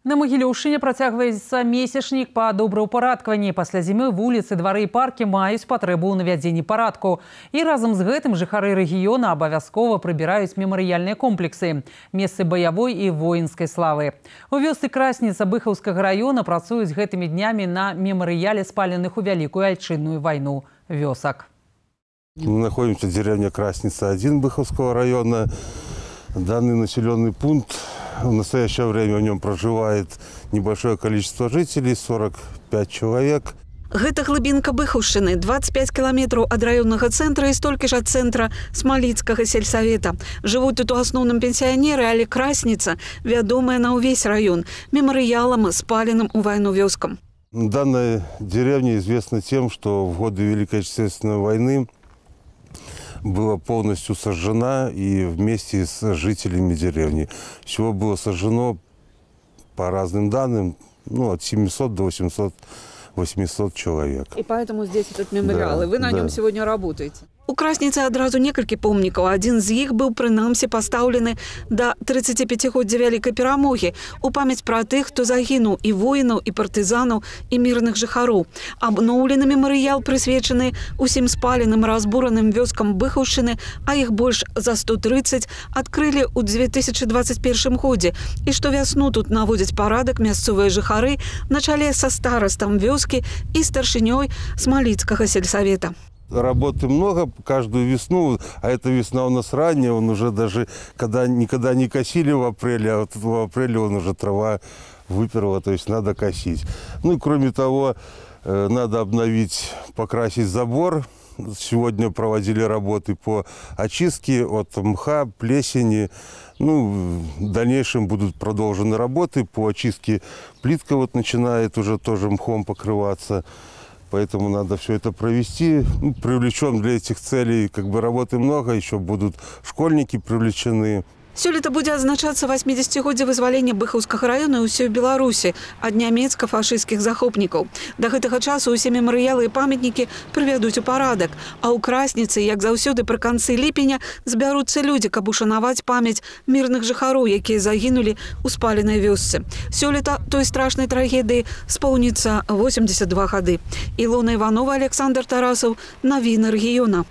На Магілёўшчыне працягваецца месячнік па добраўпарадкаванні. Пасля зімы вуліцы, двары і паркі маюць патрэбу ў навядзенні парадку. І разам з гэтым жыхары рэгіёна абавязкова прыбіраюць мемарыяльныя комплексы, месцы баявой і воінскай славы. У вёсцы Красніца Быхаўскага района працуюць гэтымі днямі на мемарыяле спаленых у Вялікую Айчынную вайну вёсак. Мы находимся в деревне Красница-1 Быховского района. Данный населенный пункт, в настоящее время в нем проживает небольшое количество жителей, 45 человек. Гэта глыбінка Быхаўшчыны, 25 километров от районного центра и столько же от центра Смаліцкага сельсовета. Живут тут у основном пенсионеры, але Красница вядомая на увесь район, меморіялам, спаленным у войну вёскам. Данная деревня известна тем, что в годы Великой Отечественной войны была полностью сожжена и вместе с жителями деревни. Всего было сожжено, по разным данным, от 700 до 800 человек. И поэтому здесь этот мемориал, да, и вы на нем сегодня работаете? У Красніцы адразу некалькі помнікаў. Адзін з іх быў прынамсі пастаўлены да 35-годдзя Вялікай перамогі у памяць пра тых, хто загінуў, і воінаў, і партызанаў, і мірных жыхароў. Абноўлены мемарыял прысвечаны усім спаленым, разбураным вёскам Быхаўшчыны, а іх больш за 130 адкрылі ў 2021 годзе. І штовясну тут наводзяць парадак мясцовыя жыхары на чале са старастам вёскі і старшынёй Смаліцкага сельсовета. Работы много каждую весну, а эта весна у нас ранняя, он уже даже никогда не косили в апреле, а вот в апреле он уже трава выперла, то есть надо косить. Ну и кроме того, надо обновить, покрасить забор. Сегодня проводили работы по очистке от мха, плесени. В дальнейшем будут продолжены работы по очистке. Плитка вот начинает уже тоже мхом покрываться. Поэтому надо все это провести. Привлечем для этих целей, работы много, еще будут школьники привлечены. Сёлета будзе адзначацца 80-годдзе вызвалення Быхаўскага района і ўсёй Беларусі ад нямецка-фашысцкіх захопнікаў. Да гэтага часу ўсе мемарыялы і памятнікі прывядуць у парадак. А ў Красніцы, як заўсёды пры канцы ліпеня, збяруцца людзі, каб ушанаваць памяць мірных жыхароў, якія загінулі ў спаленай вёсцы. Сёлета той страшнай трагедыі споўніцца 82 гады. Ілона Іванова, Александр Тарасаў, навіны рэгіёна.